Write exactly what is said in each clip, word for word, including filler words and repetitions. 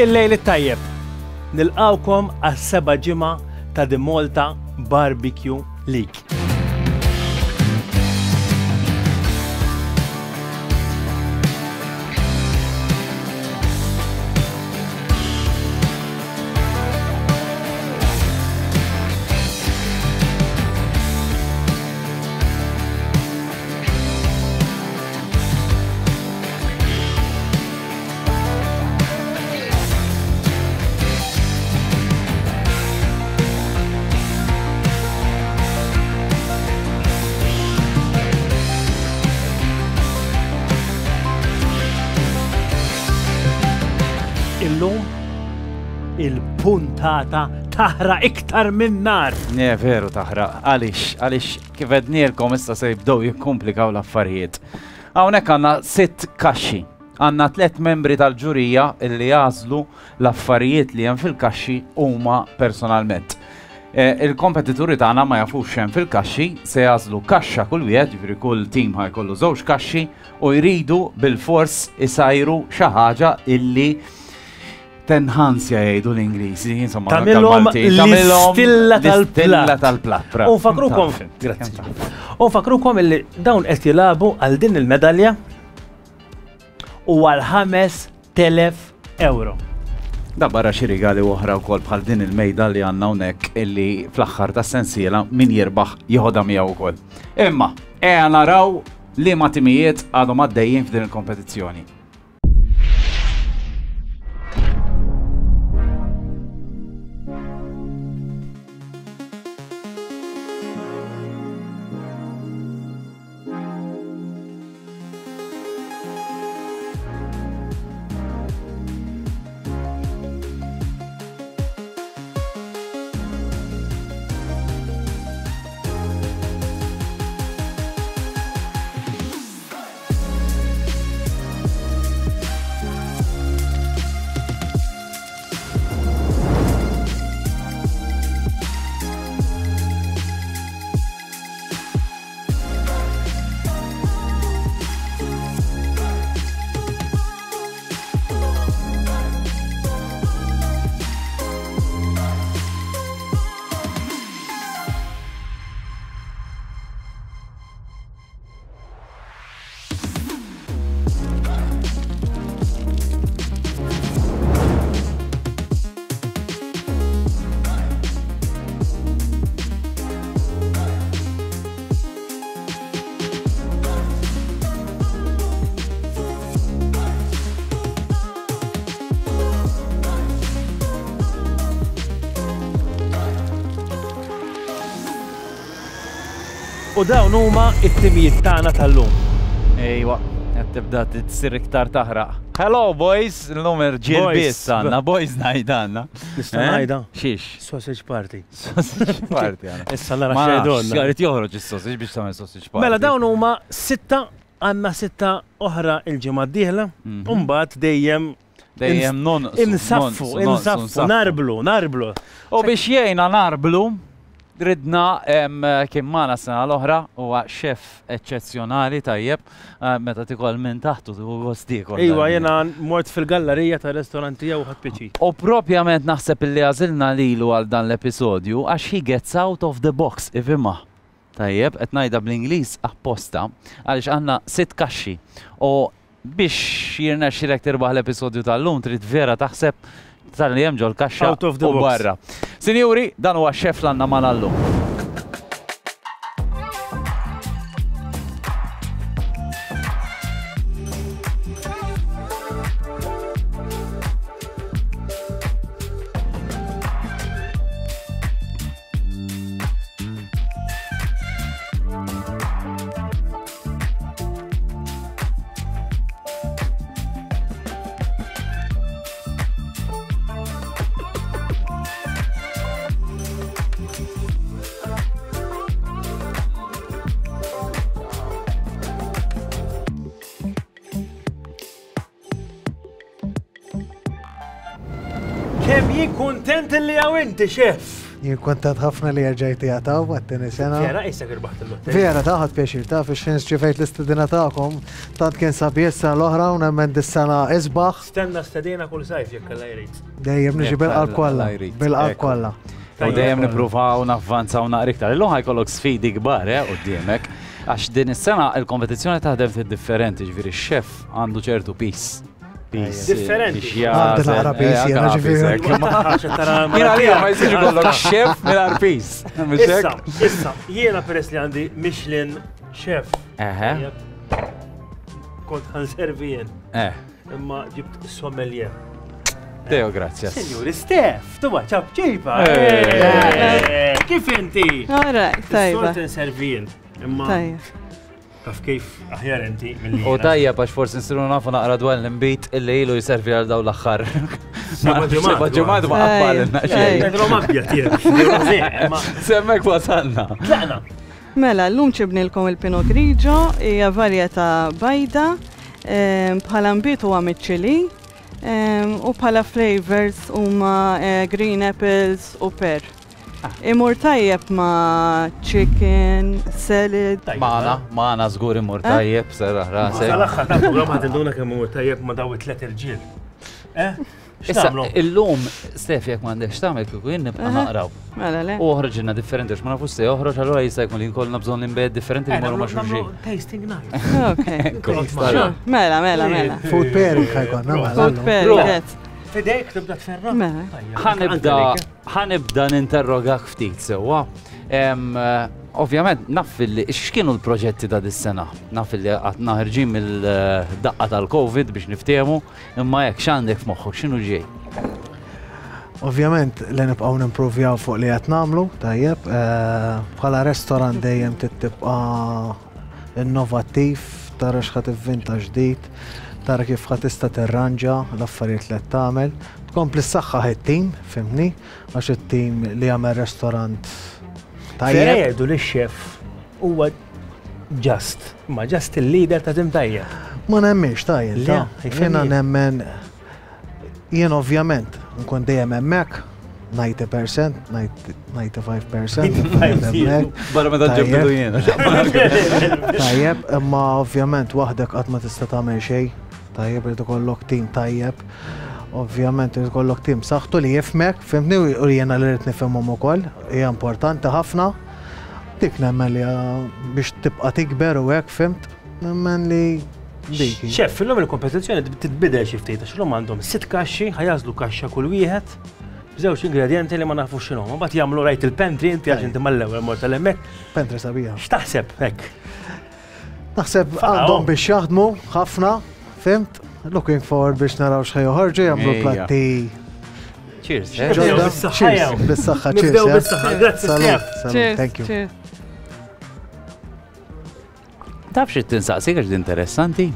Il-lejl it-tajjeb. Nilqawkom għas-seba' ġimgħa ta' The Malta Barbecue League. Illum il-puntata taħraq iktar minn nar. Ne, veru taħraq. Għaliex, għaliex kif għednielkom issa se jibdew jikkomplikaw l-affarijiet. Hawnhekk għandna sitt kaxxi. Għandna tliet membri tal-ġurija illi jagħżlu l-affarijiet li hemm fil-kaxxi huma personalment. Eh, Il-kompetituri tagħna ma jafux x'hemm fil-kaxxi, se jagħżlu kaxxa kull wieħed, jiġifieri kull tim ħa jkollu żewġ kaxxi u jridu bil-fors isajru xi ħaġa illi tenħansja jgħidu l-Ingliżi, insomma. Tagħmilhom anke l-Malti. Tagħmilhom l-istilla l-istilla tal-platt. tal-platt. U bravo. nfakrukom, grazzi. U nfakrukom illi dawn qed jilagħbu għal din il-medalja u għal ħames telef euro. Da barra xi rigali oħra wkoll bħal din il-mejda li għandna hawnhekk illi fl-aħħar tas-sensiela min jirbaħ jieħodha miegħu wkoll. Imma ejja naraw liema timijiet għadhom għaddejjin f'din il-kompetizzjoni. U dawn huma it-timijiet tagħna tal-lum. Ejwa, qed tibda tsir iktar taħraq. Hello boys, illum irġiel Boys. biss għandna, boys ngħid għandna. Nista' Eh? ngħidha? Xiex? Sausage party. Sausage party għandna. Issa nara Ma nafx, x'jgħidulna. Irid joħroġ is-sausage biex tagħmel sausage party. Mela dawn huma sitta, għandna sitta oħra il-ġimgħa d-dieħla, Mhm. u mbagħad dejjem Dejjem nonqsu. insaffu, nonqsu, nonqsu, insaffu, narblu, narblu. U biex jgħinna narblu, ridna em, kien magħna sena l-oħra, huwa xef eċċezzjonali tajjeb, eh, meta tikol minn taħtu tieħu gost tiekol. Iwa, jena mort fil-gallerija ta' restorant tiegħu u ħadt pjaċir. U propjament naħseb illi għażilna lilu għal dan l-episodju għax he gets out of the box, ifhimha. Tajjeb, qed ngħidha bl-Ingliż apposta għaliex għandna sitt kaxxi. U biex jirnexxilek tirbaħ l-episodju tal-lum trid vera taħseb tal-li hemm ġol-kaxxa Out of the u box. barra. Sinjuri, dan huwa x-xef l għandna magħna llum. Kemm jien kontent li hawn inti, xef. Jien kontent ħafna li rġajt jagħtaw għat-tieni sena. Vera, issa irbaħt il-lotterija. Vera, ta' ħadt pjaċir ta' fiex xejn ċifejt l-istedina tagħkom. Tant kien sabiħ is-sena l-oħra u nemmen dis-sena isbaħ. Stenna stedina kull sajf jekk Alla jrid. Dejjem niġi bil-qalb kollha. Bil-qalb kollha. U dejjem nippruvaw navvanzaw naqra iktar. Illum ħa jkollok sfidi kbar eh quddiemek. Għax din is-sena il-kompetizzjoni taħdem ftit differenti, ġifieri x-chef għandu ċertu piż. Differenti. Għandi naqra piż jiena ġifieri. Jiena għalija ma jsirx ikollok chef mingħajr piż. Issa, issa, jiena peress li għandi Michelin chef. Eħe. Kont ħa nservi jien. Eh. Imma ġibt sommelier. Deo, grazie. Signori Stef, tu ċapċipa. Kif inti? All right, tajba. Sort nservi jien. Imma taf kif aħjar inti mill-li. U tajjeb għax forsi nsiru nafu naqra dwar l-imbit illi ilu jservi għal daw l-aħħar. Seba' ġimgħat ma qabbalilna xejn. Pedro Mabbja tiegħek. Semmek wasalna. Tlaqna. Mela, llum ġibnilkom il-Pinot Grigio, hija varjetà bajda, bħala nbid huwa miċ-Ċili, u bħala flavors huma green apples u pear. Imur tajjeb ma' chicken, salad. Maħna, maħna żgur imur tajjeb, serraħ rasek. Sal-aħħar ta' programm ħa tinduna kemm imur tajjeb ma' daw it-tliet irġiel. Eh? Issa, illum, Stef, jekk m'għandekx tagħmel kieku jien nibqa' naqraw. Mela le. U oħroġilna differenti għax ma nafux se joħroġ, allura jista' jkun li jkollna bżonn inbejjed differenti li jmorru ma' xulxin. Tasting night. Ok. Mela, mela, mela. Food pairing ħa jkollna. Food pairing. Fidejk tibda tferra. Ħa nibda, ħa nibda ninterrogak ftit sewwa. Ovvjament, naf li x'kienu l-proġetti ta' dis-sena? Naf li għadna ħerġin mill-daqqa tal-Covid biex niftehmu, imma jekk x'għandek f'moħħok, x'inhu ġej? Ovvjament li nibqgħu nimprovjaw fuq li qed nagħmlu, tajjeb, bħala restorant dejjem tibqa' innovattiv, tara x'ħa tivvinta ġdid, tara kif ħa tista' tirranġa l-affarijiet li qed tagħmel, tkompli ssaħħaħ it-tim, fimni, għax it-tim li jagħmel restorant tajjeb. Vera jgħidu li x-chef huwa just, ma just il-leader ta' tim tajjeb. Ma nemminx tajjeb, ta' jiena nemmen, jien ovvjament nkun dejjem hemmhekk, ninety percent, ninety-five percent. Barra meta ġibdu jiena. Tajjeb, imma ovvjament waħdek qatt ma tista' tagħmel xejn. Tajjeb, irid ikollok tim tajjeb. Ovvjament irid ikollok tim saħħtu li jifhmek, fimni, u jiena li rrid nifhimhom ukoll, hija importanti ħafna. Dik nemmen li biex tibqa' tikber u hekk, fimt, nemmen li dik. Chef, illum il-kompetizzjoni titbidel xi ftit għax illum għandhom sitt kaxxi, ħa jażlu kaxxa kull wieħed b'żewġ ingredjenti li ma nafux x'inhom. Mbagħad jagħmlu rajt il-pantry inti għax inti mal-ewwel mort tal-hemmhekk. Pantry sabiħa. X'taħseb hekk? Naħseb għandhom biex jaħdmu ħafna, fimt? Looking forward biex naraw x'ħa joħorġu, jagħmlu platti. Cheers. Cheers. Bis-saħħa, cheers. Nibdew bis-saħħa. Grazzi, Stef. Thank you. Taf xi tinsaqsik għax interessanti?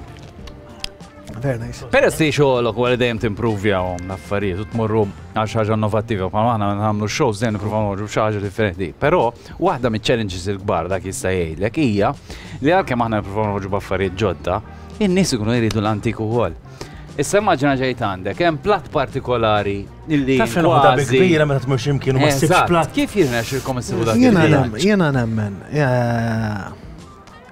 Very nice. Peress li xogħolok wara dejjem timprovjawhom l-affarijiet u tmorru għal xi ħaġa innovattiva, bħalma aħna nagħmlu shows dejjem nippruvaw noħorġu b'xi ħaġa differenti. Però waħda miċ-challenges il-kbar dak jista' jgħidlek hija li għalkemm aħna nippruvaw noħorġu b'affarijiet ġodda, in-nies ikunu jridu l-antik ukoll. Issa immaġina ġejt għandek hemm platt partikolari illi Taf x'inhu waħda kbira meta tmur x'imkien u ma ssibx platt. Kif jirnexxilkom issibu dak? Jiena nemmen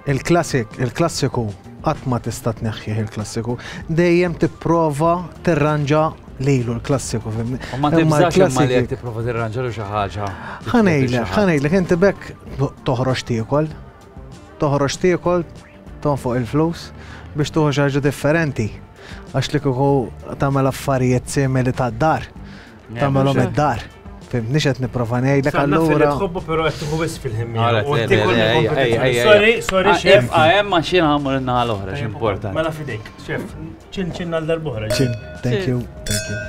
il-klassik, il-klassiku qatt ma tista' tneħħih il-klassiku, dejjem tipprova tirranġa lilu l-klassiku, fimni. Ma tibżax imma li jekk tipprova tirranġa lu xi ħaġa. Ħa ngħidlek, ħa ngħidlek inti bekk toħroġ tiekol, toħroġ tiekol, tonfoq il-flus biex tuħu xi ħaġa differenti. Għax li kieku tagħmel affarijiet simili tad-dar, tagħmelhom id-dar. Fimni x'qed nipprova ngħidlek allura. Tħobbu però qed tieħu wisq fil-ħin. Sorry, sorry, chef. Hemm ma xi nagħmlu n-naħa l-oħra x'importanti. Mela fidejk, chef. Ċin ċin għal darb'oħra. Ċin, thank you, thank you.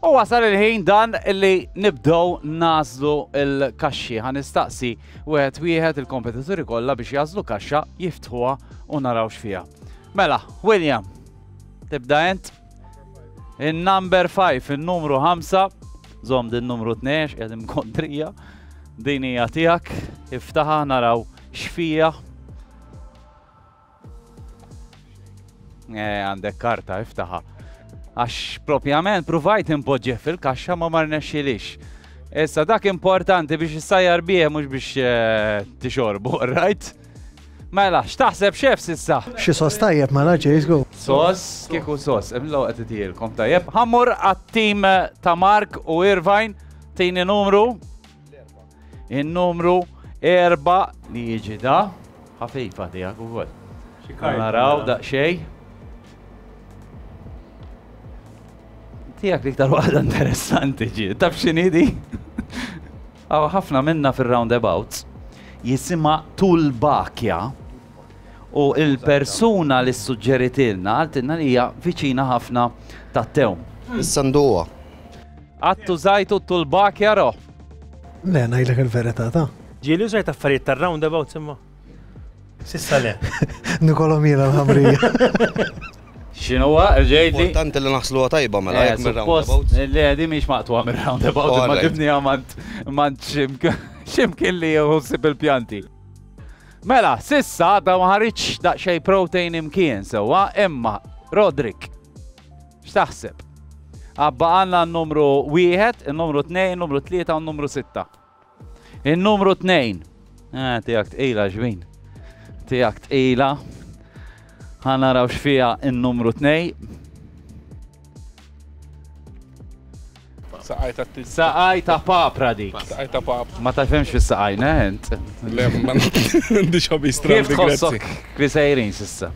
U wasal il-ħin dan illi nibdew nażlu l-kaxxi. Ħa nistaqsi wieħed wieħed il-kompetituri kollha biex jażlu kaxxa, jiftħuha u naraw x'fiha. Mela, William, tibda int? In-number five, in-numru ħamsa. Żomm din numru tnejn, qegħdin kontrija. Din hija tiegħek, iftaħha naraw x'fija. Eh, għandek karta, iftaħha. Għax propjament provajt impoġġih fil-kaxxa ma ma rnexxilix. Issa dak importanti biex issajjar bih mhux biex tixorbu, right? Mela, x'taħseb xef s'issa? Xi sos tajjeb mela ġej go. Sos, kieku sos, imlaw qed itielkom tajjeb. Ħammur għat-tim ta' Mark u Irvine, tini numru. In-numru erba' li jiġi da. Ħafifa tiegħek ukoll. Naraw daqsxejn. Tiegħek l-iktar waħda interessanti ġi. Taf x'inhi di? Hawn ħafna minna fir-roundabouts jisimha tulbakja u il-persuna li suġġeritilna għaltilna li hija viċina ħafna tat-tewm. Issa nduha. Għattu żajtu tulbakja ro? Le, ngħidlek il-verità ta'. Ġieli użajt affarijiet tar-roundabouts imma. Sissa le. Nikolom jiena l-ħamrija. X'inhuwa ġejdi? Importanti li naħsluha tajba mela jekk mir-roundabouts. Le, di mhix maqtuha mir-roundabout, imma ġibniha mant x'imkien li jħossib il-pjanti. Mela, sissa da ma ħaritx daqsxejn protein imkien sewwa, imma Roderick, x'taħseb? Abba għandna n-numru wieħed, in-numru tnejn, in-numru tlieta u n-numru sitta. In-numru tnejn. Eh, tiegħek tqila ġbin. Tiegħek tqila. Ħa naraw x'fiha n-numru tnejn. Saqaj ta' t Saqaj ta' papra dik. Saqaj ta' papra. Ma tafhemx fis-saqaj, int? Le, ma għandix hobby strambi, Kif tħossok kif sejrin s'issa?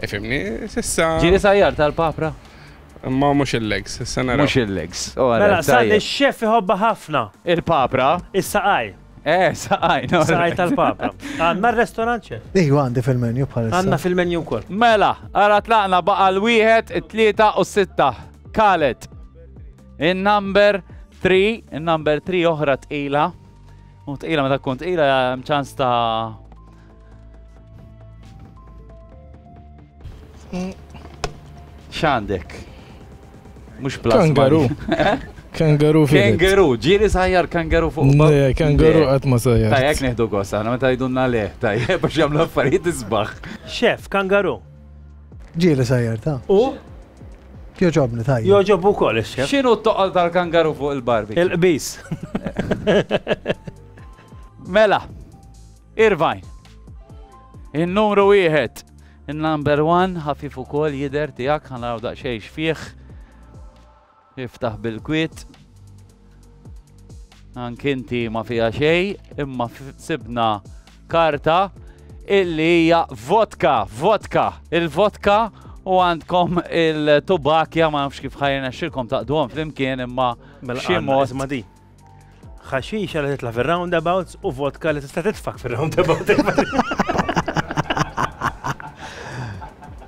Ifhimni, s'issa. Ġieli sajjar tal-papra? Ma mhux il-legs, issa naraw. Mhux il-legs. Mela, sa ix-xef iħobba ħafna. Il-papra? Is-saqaj. Eh, saqaj, no. Saqaj tal-papra. Għandna r-restorant xef? Ejwa, għandi fil-menu bħalissa. Għandna fil-menu wkoll. Mela, ara tlaqna baqa' l-wieħed, it-tlieta u s-sitta. Kalet. In-number three, in-number three oħra tqila. U tqila meta tkun tqila hemm ċans ta' x'għandek? Mhux plasma. Kangaroo. Kangaroo fil. Kangaroo, ġieli sajjar kangaroo fuq. Le, kangaroo qatt ma sajjar. Tajjeb nieħdu gost aħna meta jgħidulna le, tajjeb biex jagħmlu affarijiet isbaħ. Xef, kangaroo. Ġieli sajjar ta'. U? Joġobni tajjeb. Joġob ukoll ix-xef. X'inhu t-toqol tal-kangaroo fuq il-barbecue? Il-qbis. Mela, Irvine. In-numru wieħed, in-number one, ħafif ukoll jidher tiegħek, ħa naraw daqsxejn x'fih. Iftaħ bil-kwiet. Anki inti ma fiha xejn, imma sibna karta illi hija vodka, vodka, il-vodka u għandkom il-tubakja, ma nafx kif ħajna xilkom taqduhom flimkien imma xi mod. Isma' di. Ħaxixa li titla' fir-roundabouts u vodka li tista' titfak fir-roundabout.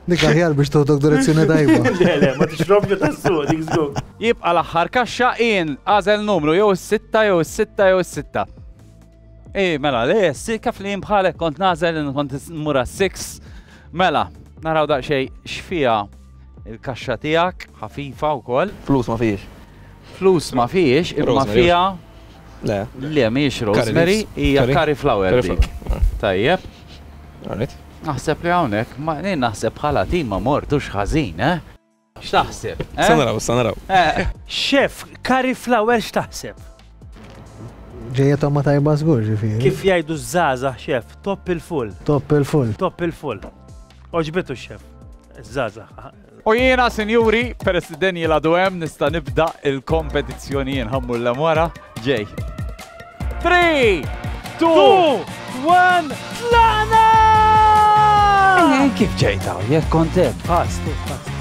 Dik aħjar biex toħdok direzzjoni tajba. Le, le, ma tixrobx tas-suq, dik żgur. Jibqa' l-aħħar kaxxa in għażel numru jew is-sitta jew is-sitta jew is-sitta. Ej, mela, le, kif li jien bħalek kont nażel kont nmur għas-six. Mela, naraw daqsxejn x'fiha il-kaxxa tiegħek, ħafifa wkoll. Flus ma fiex. Flus ma fiex, imma fiha. Le. Le, mhijiex rosemary, hija cauliflower dik. Tajjeb. Alright. Naħseb li hawnhekk, ma jien naħseb bħala tim ma mortux ħażin, eh? X'taħseb? Sa naraw, sa naraw. Chef, cauliflower x'taħseb? Ġejja tomma tajba żgur ġifieri. Kif jgħidu żgħażagħ chef, top il-full. Top il-full. Top il-full. Oġbitu x-chef, żgħażagħ. U jiena, sinjuri, peress li Daniel għadu hemm nista' nibda il-kompetizzjoni jien ħammur l wara ġej. Three, two, one, tlaqna! Kif ġejta? Jekk kont hemm. Fast, fast.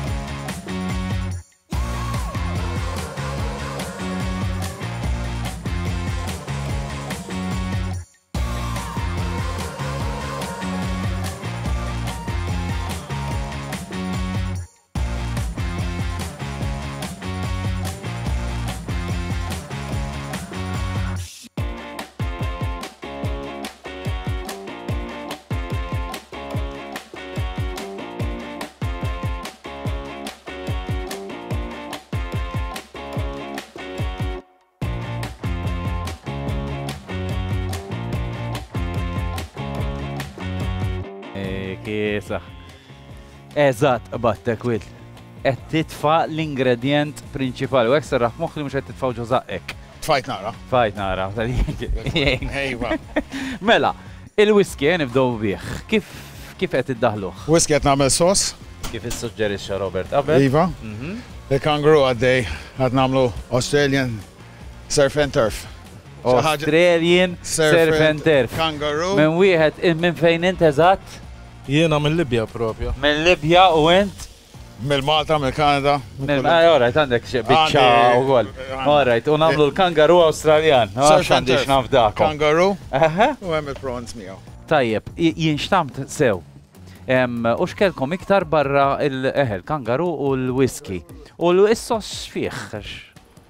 Kiesaħ. Eżatt, battek Will. Qed titfa' l-ingredjent prinċipali u hekk serraħ moħħ li mhux qed titfgħu ġo żaqqek. Tfajt nara. Tfajt nara. Ejwa. Mela, il-whisky nibdew bih. Kif kif qed iddaħluh? Whisky qed nagħmel sos. Kif issuġġerixxa Robert qabel. Iva. Il-kangaroo għaddej qed nagħmlu Australian surf and turf. Australian surf and turf. Kangaroo. Minn wieħed minn fejn int eżatt? Jiena minn Libja propja. Minn Libja u int? Mill-Malta, mill-Kanada. All right, għandek xi biċċa wkoll. All right, u nagħmlu l-kangaroo Awstraljan. Surf and Għandix turf. nafdakom. Kangaroo. Aha. U hemm il-prawns miegħu. Tajjeb, jinxtamt sew. U x'kelkom iktar barra il-eħel, kangaroo u l-whisky. U l-sos fih.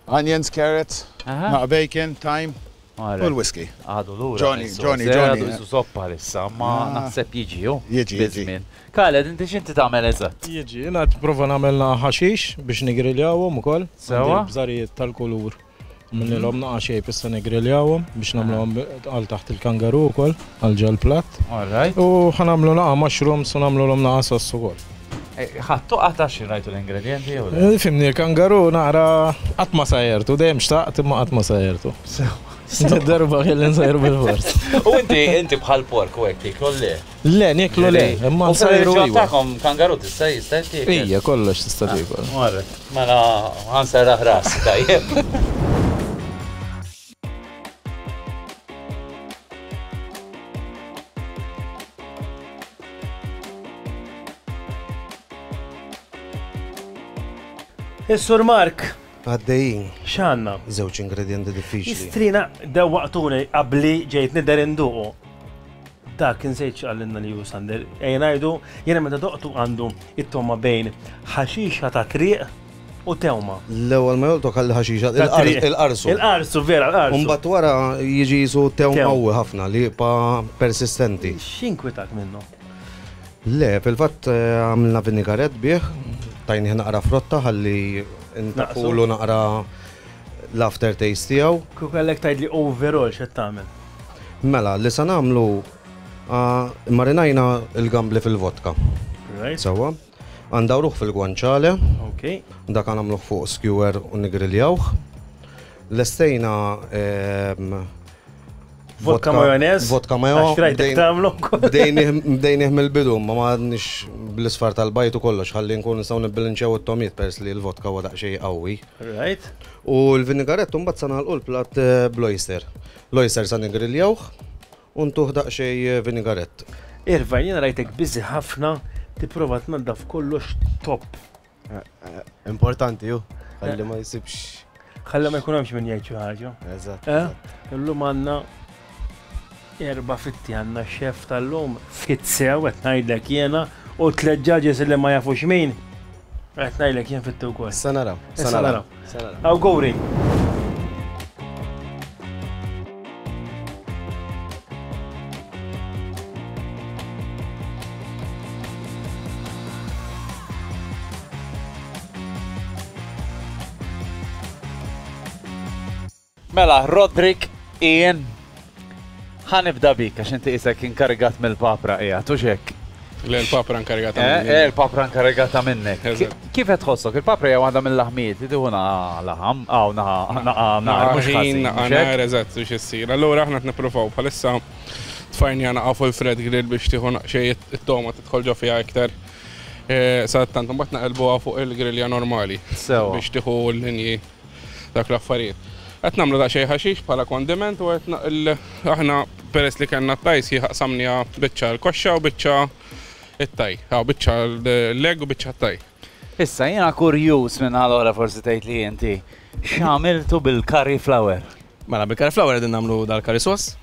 Onions, carrots, Aha. bacon, thyme. All U right. l-whisky. Għadu lura. Johnny, is-sos, Johnny, eh, Johnny. Għadu isu soppa issa, ma Ah. naħseb jiġi, ju. Jiġi, jiġi. Biż-żmien. Khaled, inti x'inti tagħmel eżatt? Jiġi, jiena qed prova nagħmel ħaxix biex nigriljawhom ukoll. Sewa. Għandi l-bżarijiet tal-kulur. Minnilhom naqa' xejn issa nigriljawhom biex nagħmluhom għal taħt il-kangaroo ukoll, għal ġol platt. All right. U ħanamlu naqa' mushrooms u nagħmluhom naqa' sos ukoll. Ħattu qata xi rajtu l-ingredienti jew le? Eh, Fimni, il-kangaroo naqra qatt ma sajjertu, dejjem xtaqt imma qatt ma sajjertu. Darba kelli nsajru bil-fors. U inti inti bħal pork u hekk tieklu le. Le, nieklu le, imma U nsajru fil-reliġjon iva. tagħkom kangaroo tista' jista' jtiekol. Ija, kollox tista' tiekol. Alright. Mela ħanserraħ rasi tajjeb. Is-Sur Mark, Għaddejjin. x'għandna? Żewġ ingredienti diffiċli. Istrina dewwaqtuni qabli ġejt nidher induqu. Dak insejt x'qalilna li hu Sander. Ejja ngħidu, jiena meta doqtu għandu it-toma bejn ħaxixa ta' triq u tewma. L-ewwel ma joltok għal ħaxixa Ta' triq. il-qarsu. Il-qarsu vera, il-qarsu. Mbagħad wara jiġi jisu tew Tew. qawwi ħafna li jibqa' persistenti. X'inkwitak minnu? Le, fil-fatt eh, għamilna vinigaret bih, tajnih naqra frotta ħalli ntafulu naqra l-after taste tiegħu. Kieku kellek tgħidli overall x'qed tagħmel. Mela, li sa nagħmlu ah, marinajna il-gambli fil-vodka. Right? Sewwa. Għandawruh fil-gwanċale, Okay. dak nagħmluh fuq skewer u nigriljawh. Lestejna ehm, Vodka majonez? Vodka majo. Għax rajtek bdejn- tagħmlu wkoll. Bdejnih bdejnih mill-bidu, ma m'għadniex bl-isfar tal-bajt u kollox, ħalli nkun nistgħu nibbilanċjaw it-tomiet peress li l-vodka huwa daqsxejn qawwi. Right? U l-vinigarettu mbagħad sa nagħlqu l-platt eh, bl-oyster. L-oyster sa nigriljawh u ntuh daqsxejn vinigarett. Irva, jiena rajtek busy ħafna tipprova tnaddaf kollox top. Importanti ju, ħalli ma jsibx. Ħalli ma jkun hemmx min jgħid xi ħaġa. Eżatt. Eh? Illum għandna erba' fitti għandna xef tal-lum fit sew qed ngħidlek jiena u tliet judges li ma jafux min. Qed ngħidlek jien fitti wkoll. Sa naraw, sa Issa naraw. naraw. Sa naraw. Awguri. Mela, Roderick, Ian, ħanibda bik għax inti isek inkarigat mill-papra qiegħed u xek. Le l-papra inkarigata Eh, minni. eh, il-papra inkarigata minnek. Eżatt. Kif qed tħossok? Il-papra hija waħda mill-laħmijiet li tieħu naqa laħam, aw naqa naqa nar, mhux ħażin. Naqa mhux hekk? nar, eżatt, biex issir. Allura aħna qed nippruvaw bħalissa tfajnija naqa fuq il-fred grill biex tieħu naqxej it-toma tidħol ġo fiha iktar. Eh, Sadattant imbagħad naqilbuha fuq il-grilja normali Sewa. biex tieħu l-linji dak l-affarijiet. Qed nagħmlu daqsxejn ħaxix bħala kondiment u qed naqil aħna peress li kellna t-tajs jaqsamnija biċċa l-koxxa u biċċa it-taj. Aw biċċa l-leg u biċċa t-taj. Issa jiena kurjuż minn allura forsi tgħid li inti x'għamiltu bil-curry flower. Mela, bil-curry flower qegħdin nagħmlu dal-curry sauce.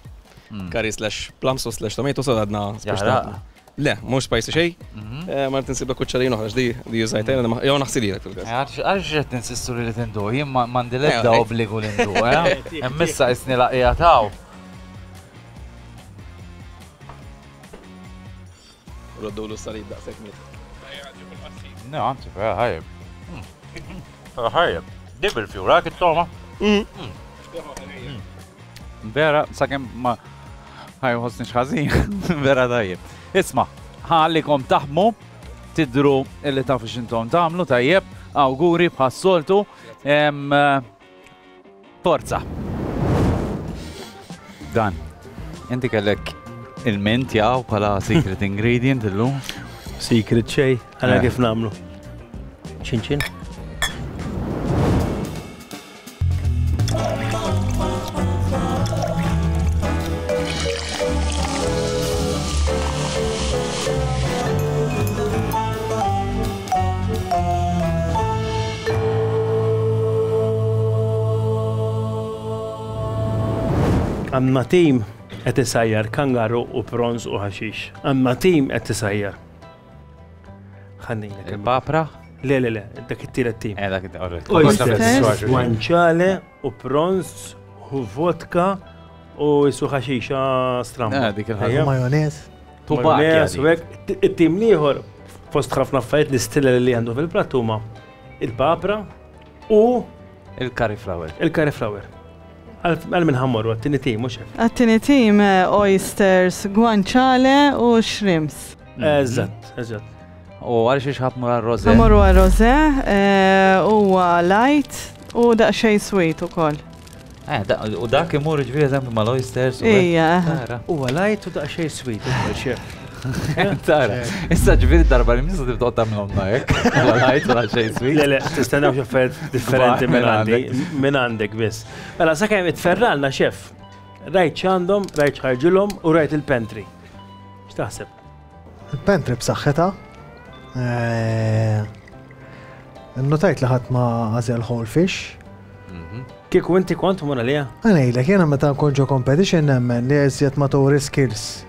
Curry slash plum sauce slash tomato sauce għadna Jaħraq. Le, mhux spicy xejn. Eh, Ma rrid insib kuċċarin oħra x'di di użajt jiena, jew naħsililek fil-każ. Għalx qed ninsistu li tindu, jien ma- m'għandi l-ebda Eh, obbligu li ndu, eh? Hemm issa isni laqija taw. Roddulu s-salib daqshekk miet. No, anzi, vera ħajjeb. Vera ħajjeb. Di bil-fjura, kit-toma. Vera, sakemm ma ħajħosni ħażin, vera tajjeb. Isma, Ħallikom taħmu, tidru illi tafu x'intom tagħmlu tajjeb, awguri bħas-soltu. Forza. Dan, inti kellek il-mint jaw bħala secret ingredient illum? Secret xej, għala kif nagħmlu. Ċin ċin. Għandna tim qed isajjar kangaru u prawns u ħaxix. Għandna tim qed isajjar. Ħannejlek. Il-papra? Le, le, le, dak it-tielet tim. Eh, dak it-tielet. Oysters, guanciale u prawns u vodka u jisu ħaxixa stramba. Eh, dik il-ħaġa. Majonez. Majonez u hekk. It-tim l-ieħor fost ħafna affarijiet l-istilla li għandu fil-platt huma il-papra u il-cauliflower. Il-cauliflower. Għal minn ħammorru, għat-tini tim, mux hekk? Għat-tini tim, oysters, guanciale u shrimps. Eżatt, eżatt. U għal xiex ħatmur għal-rosé? Ħammorru għal-rosé, huwa light u daqsxejn sweet ukoll. U dak imur ġifieri eżempju mal-oysters. Ija. Huwa light u daqsxejn sweet ukoll, xef. Tara, issa ġifieri darba li misa tibda tagħmilhom hekk. Huwa light u daqsxejn sweet. Le, le, tistennew xi affarijiet differenti minn għandi, minn għandek biss. Mela sakemm itferralna xef. Rajt x'għandhom, rajt x'ħarġilhom u rajt il-pantry. X'taħseb? Il-pantry b'saħħitha. Notajt li ħadd ma għażel whole fish. Kieku inti kont mur għalija? Ngħidlek jiena meta nkun ġo competition nemmen li eżjed ma turi skills.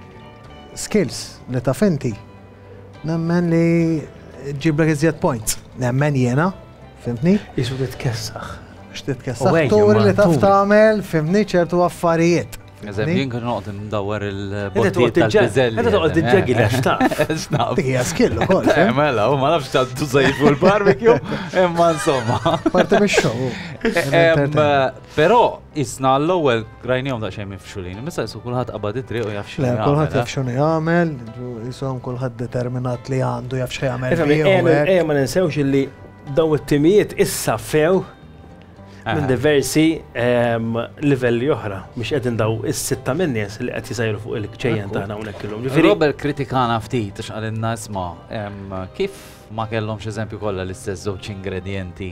Skills li taf inti. Nemmen li ġiblek iżjed points. Nemmen jiena, fimtni? Isu titkessaħ. X'titkessaħ? Turi li taf tagħmel, fimtni, ċertu affarijiet. Eżempju, jien kien noqgħod ndawwar il-bottijiet tal-piżelli. Inti toqgħod tiġġegi għax taf. Dik hija skill ukoll. Mela, u ma nafx tuża fuq il-barbecue, imma insomma. Parti mix-show. Però isna l-ewwel rajnihom daqsxejn mifxulin, issa jisu kulħadd qabad it-triq u jaf x'inhu jagħmel. Kulħadd jaf x'inhu jagħmel, jisom kulħadd determinat li għandu jaf x'jagħmel. Ejja ma ninsewx illi daw it-timijiet issa few minn diversi livelli oħra, mhux qegħdin daw is-sitta minn nies li qed jisajru fuq il-kċejjen tagħna hawnhekk illum. Robert kritikana ftit għax qalilna isma' kif ma kellhomx eżempju kollha l-istess żewġ ingredienti.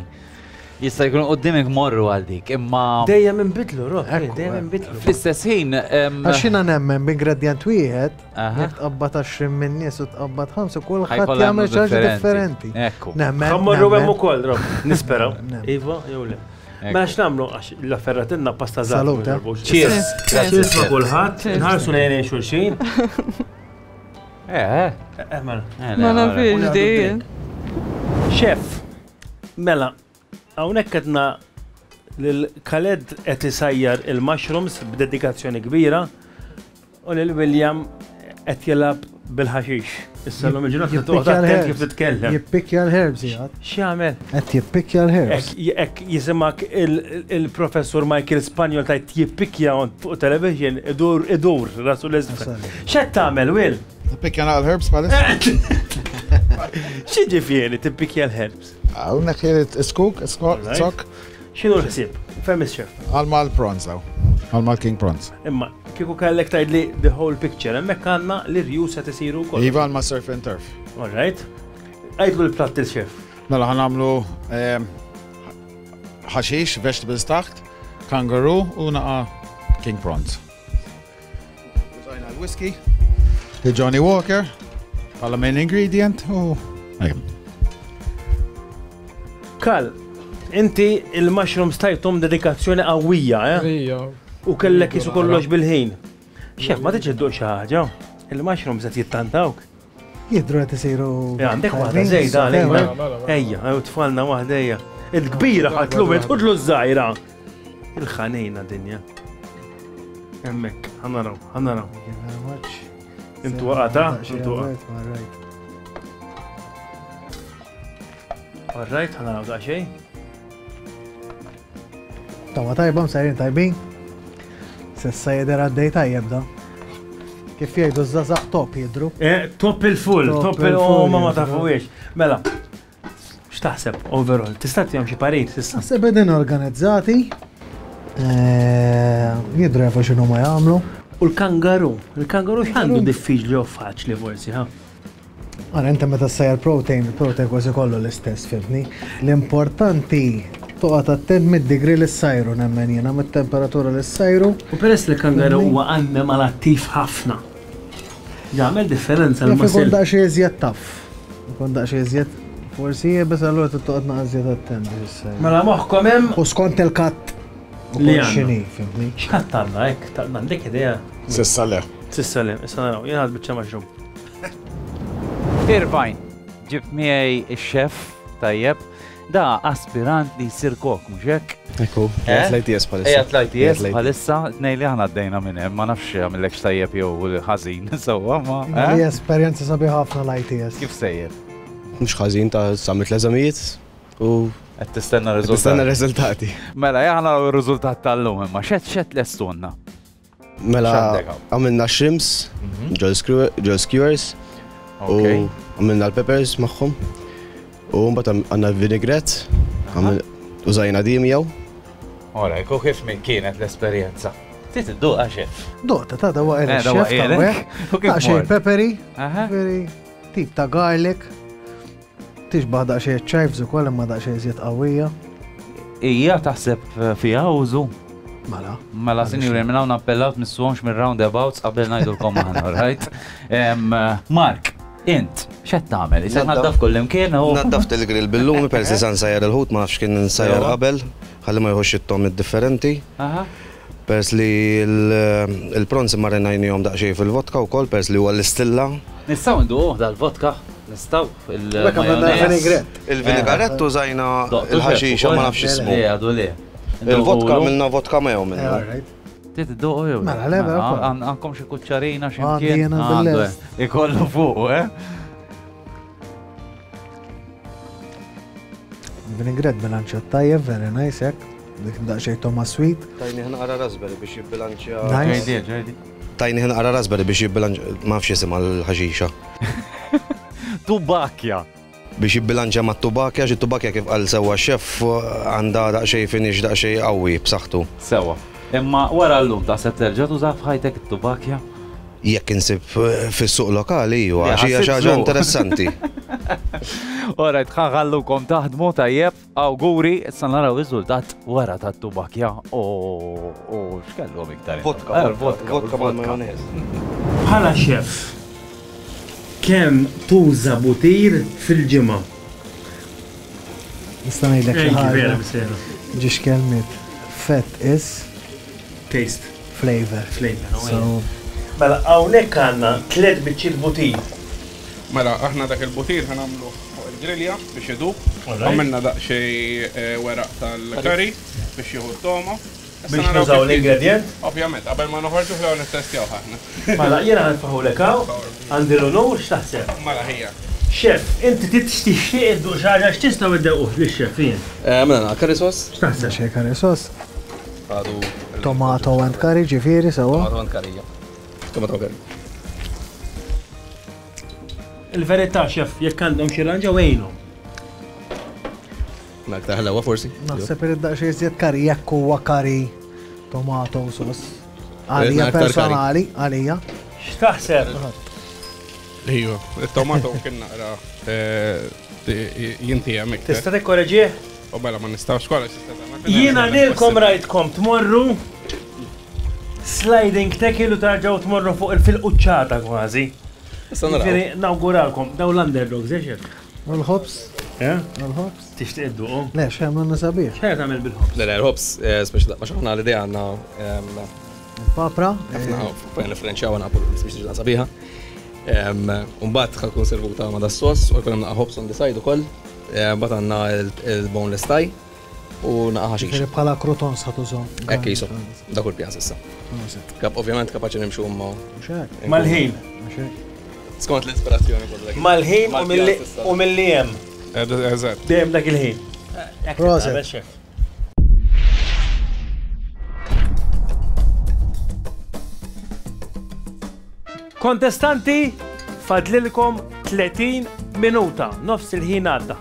Jista' jkun quddiemek morru għal dik, imma dejjem inbidlu, Rob, dejjem inbidlu. Fl-istess ħin għax jiena nemmen b'ingredjent wieħed, jekk tqabbad għaxrin minn nies u tqabbad ħamsa kulħadd jagħmel xi ħaġa differenti. Ekku. Ħammorru hemm ukoll, Rob, nisperaw. Iva, jew le. Ma x'nagħmlu għax l-afferratilna pasta żgħar. Cheers. Cheers ma' kulħadd, nħarsu lejn xulxin. Eh, eh. Mela. Ma nafx di. Chef, mela, hawnhekk qedna lil Khaled qed isajjar il-mushrooms b'dedikazzjoni kbira u lil William qed jilgħab bil-ħaxix. Issa l-lum il-ġurnata toqgħod attent kif titkellem. Jippikja l-herbs jgħad. X'jagħmel? Qed jippikja l-herbs. Hekk jisimak il-professur Michael Spagnol tajt jippikja fuq television idur idur rasu l-isfel. X'qed tagħmel, Will? Tippikja l-herbs bħalissa? X'jiġifieri tippikja l-herbs? Hawnhekk irid iskuk, iskok. X'inhu l-ħsieb? Fem is-chef. Għal mal-prawns daw. Għal mal-king prawns. Imma kieku kellek tgħidli the whole picture, hemmhekk għandna l-irjus qed isiru wkoll. Iva għal ma' surf and turf. All right. Għidlu l-platt il-chef. Mela ħa nagħmlu ħaxix, vegetables taħt, kangaroo u naqa' king prawns. Użajna l-whisky, il-Johnny Walker, bħala main ingredient u Kal, inti il-mushrooms tajthom dedikazzjoni qawwija, eh? Ija. U kellek jisu kollox bil-ħin. Xef, ma tiġi dduq xi ħaġa. Il-mushrooms qed jittantawk. Jidru qed isiru. Għandek waħda żejda għalina. Ejja, u tfalna waħda ejja. Il-kbira ħadlu tħudlu ż-żgħira. Il-ħanejna dinja. Hemmhekk, ħanaraw, ħanaraw. Intu waqata, intu waqata. All right, ħanaraw daqsxejn. Tawa tajba, msajrin tajbin. Sissa jidher għaddej tajjeb da. Kif jgħidu ż-żgħażagħ top jidru. Eh, top il-full, top il-full, ma ma tafuhiex. Mela, x'taħseb overall? Tista' tihom xi parir s'issa? Naħseb qegħdin organizzati. Eh, jidru jafu x'inhu ma jagħmlu. U l-kangaru, il-kangaru x'għandu diffiċli u faċli forsi, ha? Għara, inti meta ssajjar protein, il-protein kważi kollu l-istess, fimni. L-importanti toqgħod attent mid-degree li ssajru nemmen jiena, mit-temperatura li ssajru. U peress li l-kangaru huwa annimal attiv ħafna. Jagħmel differenza Jaf ikun l-muscle. daqsxejn iżjed taf. Ikun daqsxejn iżjed forsi iebes allura trid toqgħod naqra iżjed attent biex issajru. Mela moħħkom hemm U skont il-cut Li ukoll għandna. x'inhi, fimni. X'cut għandna hekk? Ta' għandek idea? S'issa le. S'issa le, issa naraw, jien ħadt biċċa mushroom. Irvine, ġibt miegħi ix-chef tajjeb, da aspirant li jsir kok, mhux hekk? Ekku, Eh? qiegħed l-I T S bħalissa. Qiegħed l-I T S Qiegħed l-I T S. bħalissa, tnej li aħna għaddejna minn hemm, ma nafx għamillekx tajjeb jew ħażin, sewwa ma. eh? Hija esperjenza sabiħa ħafna l-I T S. Kif sejjer? Mhux ħażin ta' sammit l-eżamijiet u Qed tistenna qed nistenna riżultat. r-riżultati. Mela, aħna r-riżultat tal-lum imma xed xed lestunna. Mela X'għandek hawn? għamilna shrimps, ġol skewer- ġol skewers u Ok. għamilna l-peppers magħhom. U mbagħad għandna l-vinaigrette, għamil- użajna di miegħu. Ora, u kif min kienet l-esperjenza? Tit idduqa chef. Doqta ta' dawa Eh, il dawa chef ta' ilek. U kif Daqsxejn mort? peppery, Aha. peppery, tip ta' garlic. Tixbaħ daqsxejn chives ukoll imma daqsxejn iżjed qawwija. Ija taħseb fiha użu. Mela. Mela, sinjuri, minn hawn appellaw tmissuhomx minn roundabouts qabel ngħidulkom aħna, right? Em, Mark, int, x'qed tagħmel? Isek Naddaf. naddaf kull imkien u Naddaft il-grill bil-lumi peress li sa nsajjar il-ħut, ma nafx kien nsajjar Sewwa. qabel, ħalli ma jħox it-tom differenti. Aha. Peress li l- il-prawns marinajnihom daqsxejn fil-vodka wkoll, peress li huwa l-istilla. Nistgħu nduquh dal-vodka? Nistgħu Dak għamilna il-majonez. vinaigrette. Il-vinaigrette użajna Doqtu il-ħaxixa chef ma nafx ukoll? ismu. Le, għadu le. Il-vodka għamilna vodka mayo Eh, minnu. all right. Tit idduqu jew? Mela, le, mela, ukoll. Għandkom xi kuċċarina xi Għandi mkien? jiena Għandu, bil-lest. eh. Ikollu fuq, eh? Vinaigrette bilanċat tajjeb, very nice hekk. Dik daqsxejn toma sweet. Tajni naqra raspberry biex jibbilanċja. Nice. Ġejdi, ġejdi. Tajni naqra raspberry biex jibbilanċja, ma nafx jisimha l-ħaxixa. Tubakja. Biex jibbilanċja ma' tubakja, xi tubakja kif qal sewwa chef għandha daqsxejn finish daqsxejn qawwi b'saħħtu. Sewwa. Imma wara llum taħseb terġa' tuża f'ħajtek it-tubakja? Jekk insib eh, fis-suq lokali iva, Le, għax hija ħassib xi ħaġa suq. interessanti. Alright, ħallukom taħdmu tajjeb, awguri, issa naraw riżultat wara tat-tubakja u u x'kellhom iktar. Vodka, Eh, vodka, vodka mal-majonez. Bħala chef, kemm tuża butir fil-ġimgħa? Nista' ngħidlek xi Ejki, vera, ħaġa. bisera. Ġiex kelmiet. Fat is Taste, flavor. flavor. So, Mela, hawnhekk għandna tliet biċċiet butir. Mela, aħna dak il-butir ħa nagħmlu fuq il-grilja biex idub. Alright. Għamilna daqsxejn eh, weraq tal-curry biex jieħu t-toma. Issa Biex naraw nużaw kif jiġi. l-ingredient. Ovvjament, qabel ma noħorġu ħlew nittestjaw aħna. Mela, jiena ħa nitfagħhulek hawn, għandi l-onur, x'taħseb? Mela ħija. Chef, inti tixtieq idduq xi ħaġa, x'tistgħu iddewquh lix-chef jien? Eh, Mela, curry sauce. X'taħseb? daqsxejn curry sauce. Għadu. Tomato and curry ġifieri sewwa. Tomato and curry, ja. Tomato and curry. Il-verità, chef, jekk għandhom xi ranġa wejnhom. Mela aktar ħlewa forsi. Naħseb irid daqsxejn iżjed curry jekk huwa curry tomato sauce. Għalija aktar curry. personali, għalija. X'taħseb? Ejju, il-tomato kien naqra eh, jintijem iktar. Tista' tikkoreġih? U mela ma nistgħux kollha tista' tagħmel. Jiena lilkom rajtkom tmorru sliding tackle u tarġaw tmorru fuq il-fil-quċċata kważi. Issa naraw. Ġifieri nawguralkom daw l-underdogs, eh chef? U l-ħobs, Eh? u l-ħobs. Tixtieq idduqhom? Le, xem għanna sabiħ. X'qed tagħmel bil-ħobs? Le, le, l-ħobs, eh, speċi ma xaħna l-idea għandna em, Papra. ħafna fejn nifrenċjaw napu biex tiġi sabiħa. Umbagħad ħa tkun servuta ma' das-sos u jkun hemm naqa' ħobs on the side ukoll. Mbagħad għandna il-boneless thigh u naqa' ħaxix. Ġifieri bħala croutons ħa tużhom. Hekk jisu, dak hu l-pjan s'issa. Kap ovvjament kapaċi nimxu ma Mhux hekk, Mal-ħin. mhux hekk. skont l-ispirazzjoni kollha. Mal-ħin u milli- u milli hemm. Eżatt. Dejjem dak il-ħin. Proset. Tagħmel, chef. Kontestanti, fadlilkom tletin minuta, nofs il-ħin għadda.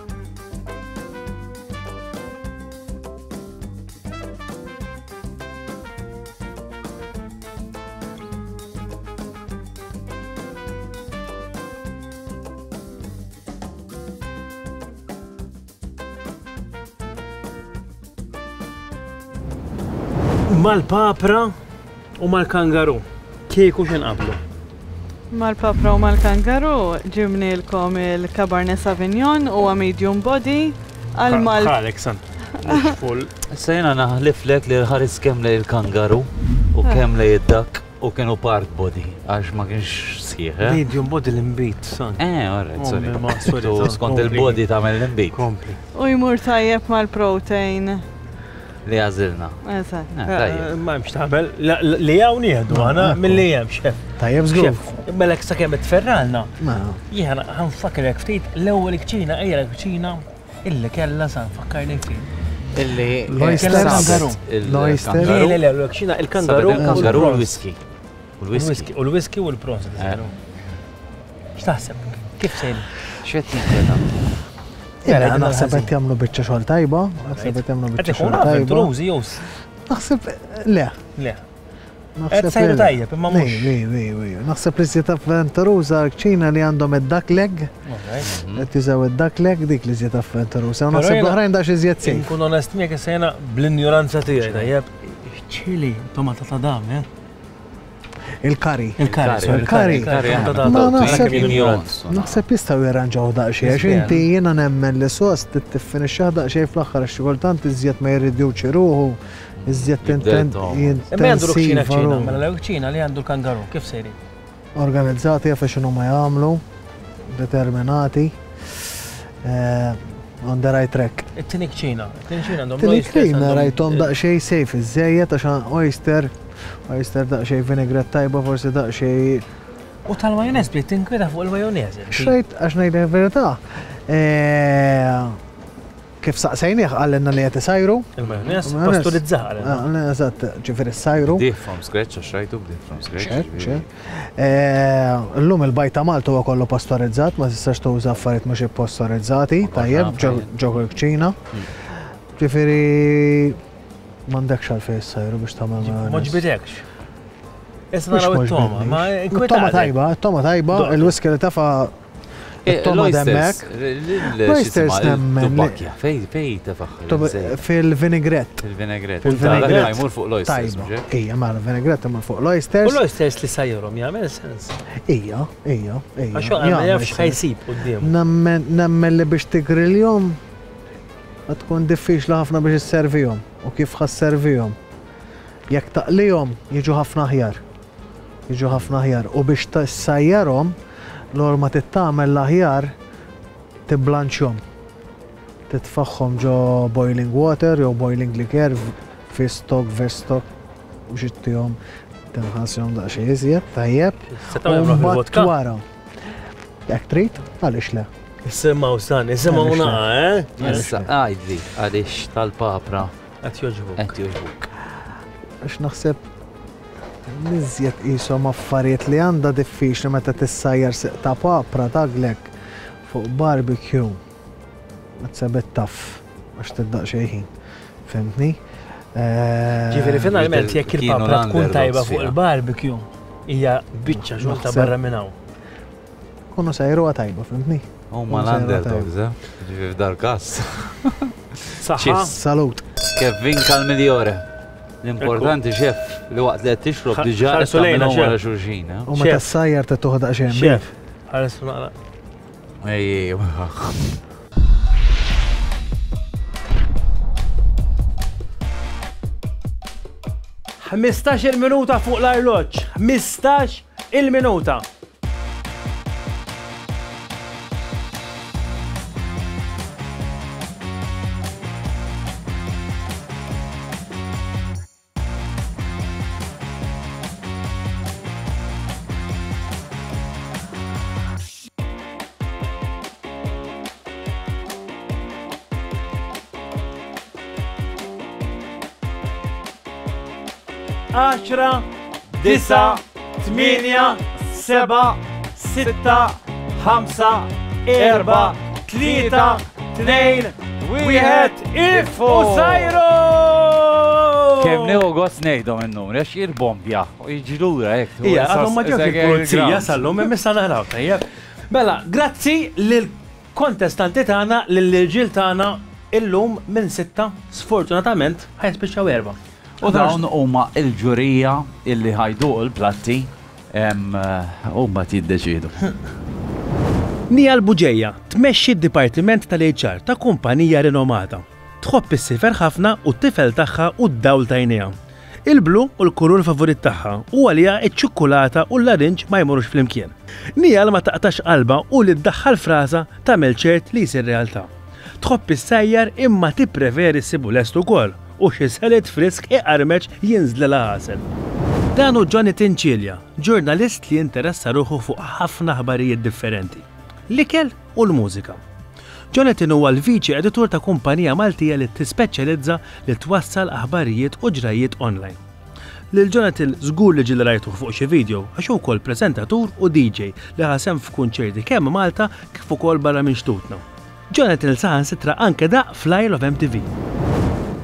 Mal-papra u mal-kangaru, kieku x'inqablu? Mal-papra u mal-kangaru ġibnilkom il-Cabernet Sauvignon u medium body għal mal. Ħalek san. Mhux full. Issa jiena naħliflek li l-ħares kemm lej il-kangaru u kemm lej id-dak u kienu part body għax ma kienx sħiħ. Medium body l-imbit, san. Eh, alright, sorry. Skont il-body tagħmel l-imbit. Kompli. U jmur tajjeb mal-protein. Li għażilna. Eżatt. Ma hemmx tagħmel, li hawn nieħdu aħna milli hemm xef. Tajjeb żgur. Mela sakemm tferralna. Jiena ħanfakrek ftit l-ewwel kċina hija l-kċina illi kellha sa nfakkarni ftit. Illi l-oyster. L-oyster. Le le le l-kċina il-kangaru. Il-kangaru u l-whisky. U l-whisky. U l-whisky u l-prawns. X'taħseb? Kif sejri? X'qed jinkweta? Naħseb qed jagħmlu biċċa xogħol tajba, naħseb qed jagħmlu biċċa xogħol tajba. Avventurużi jew Naħseb le. Le. Qed sejru tajjeb imma mhux. Ej, ej, ej, naħseb li żied avventuruża kċina li għandhom id-duck leg. Qed jużaw id-duck leg dik li żied avventuruża. Naħseb l-oħrajn dax iżjed sejf. Inkun onest miegħek issa jiena bl-injoranza tiegħi tajjeb. Ċili, tomata ta' dam, eh? Il-kari. Il-kari. Il-kari. Ma naħseb naħseb jistgħu jirranġaw daqsxejn għax inti jiena nemmen li sos tiffinixxah daqsxejn fl-aħħar għax xi kultant iżjed ma jirriduċi ruħu, iżjed Imma għandu l-kċina kċina, mela l-kċina li għandu l-kangaru, kif sejri? Organizzati jaf x'inhu ma jagħmlu, determinati. On the right track. It-tieni kċina, it-tieni kċina għandhom l-oyster. It-tieni kċina rajthom daqsxejn safe iżejjed għax oyster oyster daqsxejn vinaigrette tajba, forsi daqsxejn. U tal-majonez bdiet tinkweta fuq il-majonez. Xrajt għax ngħidlek il-verità. Kif saqsejnieh qalilna li qed isajru. Il-majonez pasturizzah qalilna. Eżatt, ġifieri ssajru. Bdieh from scratch għax rajtu bdieh from scratch. Illum il-bajt ta' Malta huwa kollu pastorizzat, ma tistax tuża affarijiet mhux ippastorizzati, tajjeb, ġo kċina. Ġifieri m'għandekx għalfejn issajru biex tagħmel majonez. Ma ġbidekx. Issa naraw it-toma, ma it-toma tajba, it-toma tajba, il-whisky li tafa it-toma demmek. L-oysters nemmen. Fej, fej tafaħ. Fil-vinaigrette. Fil-vinaigrette. Fil-vinaigrette. Jmur fuq l-oysters. Ija, ma l-vinaigrette imur fuq l-oysters. U l-oysters li sajjurhom jagħmel sens. Ija, ija, ija. Għax ma jafx ħajsib quddiem. Nemmen li biex tigriljhom tkun diffiċli ħafna biex isservihom u kif ħasservihom. Jekk taqlihom jiġu ħafna aħjar. Jiġu ħafna aħjar u biex tissajjarhom l-orma tittamel l-aħjar tiblanċjhom. Titfaħħom ġo boiling water jew boiling liquor fi stock, vestok biex ittihom tinħassihom daqsxejn iżjed, tajjeb. U mbagħad wara. Jekk trid, għaliex le. Isimgħu san, isimgħu naqa, eh? Issa għidli għaliex tal-papra qed jogħġbuk. Qed jogħġbuk. Għax naħseb niżjed qishom affarijiet li għandha diffiċli meta tissajjar siq ta' papra taglek fuq barbecue. Ma tsebet taf għax tiddaq xejn ħin. Fimtni? Ġifieri finalment jekk il-papra tkun tajba fuq il-barbecue hija biċċa xogħol ta' barra minn hawn. Kunu sajruha tajba, fimtni? Huma l-underdogs, eh? Ġifieri f'dal każ. Saħħa. Salut. Kevin Calmigliore. L-importanti xef li waqt li qed tixrob diġà qed tagħmilhom wara xulxin. U meta ssajjar trid toħodha xejn. Xef, ħares naqra. Ej, ħmistax il-minuta fuq l-arloġġ, ħmistax il-minuta. għaxra, disa, tmienja, Seba, sitta, ħamsa, erba, tlieta, tnejn, wieħed, if u sajru! Kemm nieħu gost ngħidhom in-numri għax jirbombja u jiġi lura hekk. Ija, għadhom ma ġewx il-pulizija sal-lum imma issa naraw tajjeb. Mela, grazzi lill-kontestanti tagħna, lill-irġiel tagħna illum minn sitta, sfortunatament ħa jispiċċaw erba'. U dawn huma l-ġurija illi ħajduq il-platti huma jiddeċiedu. Nija l-Buġeja tmexxi d-Dipartiment tal-H R ta' kumpanija rinomata. Tħobb is-sifer ħafna u t-tifel tagħha u d-dawl tajnija. Il-blu u l-kulur favorit tagħha u għalija iċ-ċikkulata u l-larinġ ma jmorrux flimkien. Nija ma taqtax qalba u li ddaħħal fraża tagħmel ċert li jsir realtà. Tħobb is-sajjar imma tippreferi ssibu lest ukoll u xi salad frisk iqarmeċ jinżlilha għasel. Dan hu Jonathan Cilia, ġurnalist li jinteressa ruħu fuq ħafna aħbarijiet differenti. L-ikel u l-mużika. Jonathan huwa l-viċi editur ta' kumpanija Maltija li tispeċjalizza li twassal aħbarijiet u ġrajiet online. Lil Jonathan żgur li ġieli rajtuh fuq xi video għax hu wkoll preżentatur u D J li ħasem f'kunċerti kemm Malta kif ukoll barra minn xtutna. Jonathan saħansitra anke daq fl-Isle of M T V.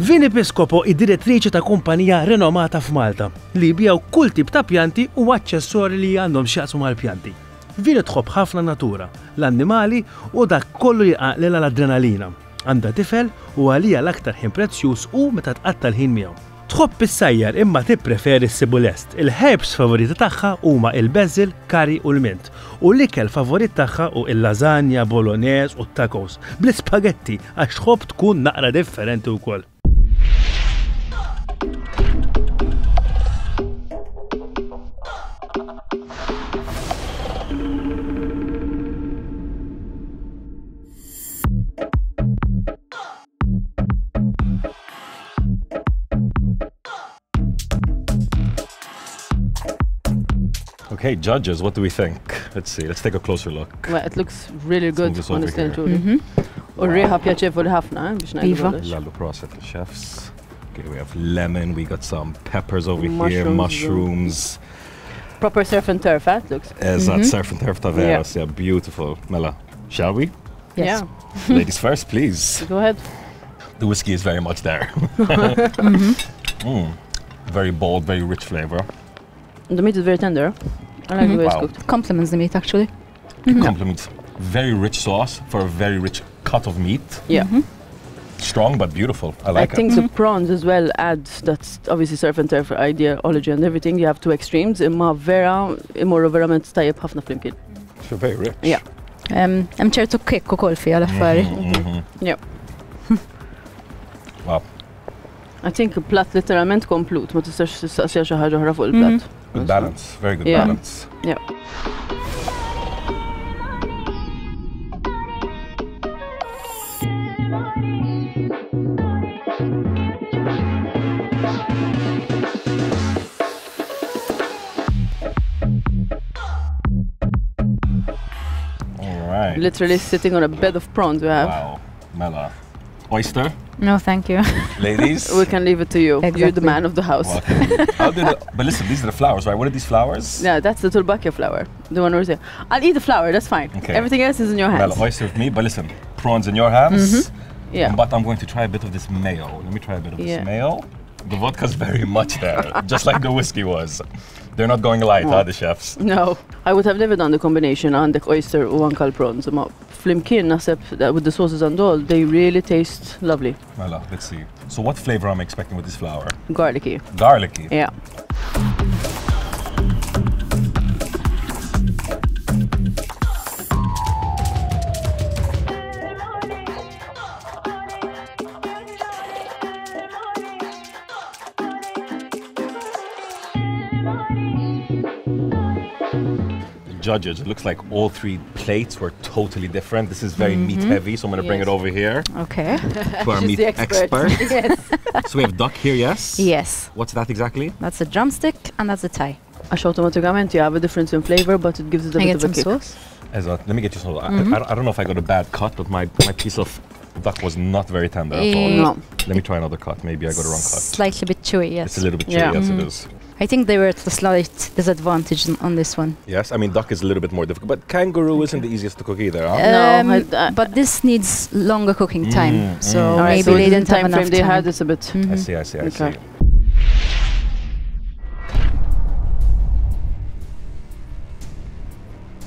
Vini Piscopo id-direttriċi ta' kumpanija renomata f'Malta li jbijaw kull tip ta' pjanti u aċċessorji li għandhom x'jaqsmu mal-pjanti. Vini tħobb ħafna natura, l-annimali u dak kollu li jqaqlilha l-adrenalina. Għandha tifel u għalija l-aktar ħin prezzjuż u meta tqatta' l-ħin miegħu. Tħobb is-sajjar imma tippreferi ssibu lest. Il-herbs favoriti tagħha huma il-basil, curry u l-mint. U l-ikel favorit tagħha hu il-lasagna, bolognese u t-tacos bl-ispagetti għax tħobb tkun naqra differenti wkoll. Okay, judges, what do we think? Let's see, let's take a closer look. Well, it looks really Let's good, move this over honestly and here. truly. Mm-hmm. U r-riħa pjaċevoli ħafna, eh, biex ngħidu Iva. kollox. Lallu proset chefs. Okay, we have lemon, we got some peppers over here, Mushrooms. mushrooms. Proper surf and turf, eh, it looks. Eżatt, Mm-hmm. surf and turf ta' vera, Yeah. yeah, beautiful. Mela, shall we? Yes. Yeah. Ladies first, please. Go ahead. The whiskey is very much there. Mm-hmm. Mm. Very bold, very rich flavor. The meat is very tender. I like the way it's Wow. cooked. Compliments the meat, actually. Mm-hmm. Compliments. Very rich sauce for a very rich cut of meat. Yeah. Mm-hmm. Strong but beautiful. I like I think it. the prawns as well add that obviously surf and turf ideology and everything. You have two extremes. Imma vera, imorru verament tajjeb ħafna flimkien. So very rich. Yeah. Um, hemm ċertu kick ukoll fiha l-affari. Mm-hmm, mm-hmm. Yeah. Wow. I think plat literalment komplut, ma tistax tistaqsija xi ħaġa oħra fuq il-plat. Mm-hmm. Good balance, very good Yeah. balance. Yeah. All right. Literally sitting on a bed of prawns we have. Wow. Mela. Oyster? No, thank you. Ladies? We can leave it to you. You're the Exactly. man of the house. Well, okay. How did it, but listen, these are the flowers, right? What are these flowers? Yeah, that's the tulbakia flower. The one we're saying. I'll eat the flower, that's fine. Okay. Everything else is in your hands. Mela, oyster with me, but listen, prawns in your hands. Mm-hmm. Yeah. But I'm going to try a bit of this mayo. Let me try a bit of this Yeah. mayo. The vodka's very much there, just like the whiskey was. They're not going light, huh, the chefs? No, I would have never done the combination għandek oyster u anka l-prawns. Ma flimkien naħseb that with the sauces and all, they really taste lovely. Mela, let's see. So what flavor am I expecting with this flower? Garlicky. Garlicky. Yeah. Judges, it looks like all three plates were totally different. This is very meat Mm-hmm. heavy, so I'm gonna bring it Yes. over here Okay. to our She's meat the expert. expert. Yes. So we have duck here, yes? Yes. What's that exactly? That's a drumstick and that's a thigh. Għax automatikament you have a difference in flavor, but it gives it a I bit get of a some kick. sauce. Eżatt, let me get you some. I- Mm-hmm. I, I don't know if I got a bad cut, but my, my piece of duck was not very tender at all. Eh, No. Let me try another cut. Maybe I got a wrong cut. Slightly bit chewy, yes. It's a little bit chewy, Yeah. yes Mm-hmm. it is. I think they were at a slight disadvantage on this one. Yes, I mean, duck is a little bit more difficult, but kangaroo isn't the easiest to cook either, huh? Um, No, I- I- but this needs longer cooking time, Mm, so mm. Alright, maybe so they the didn't have time enough frame they time. had is a bit. I see, I see, I Okay. see.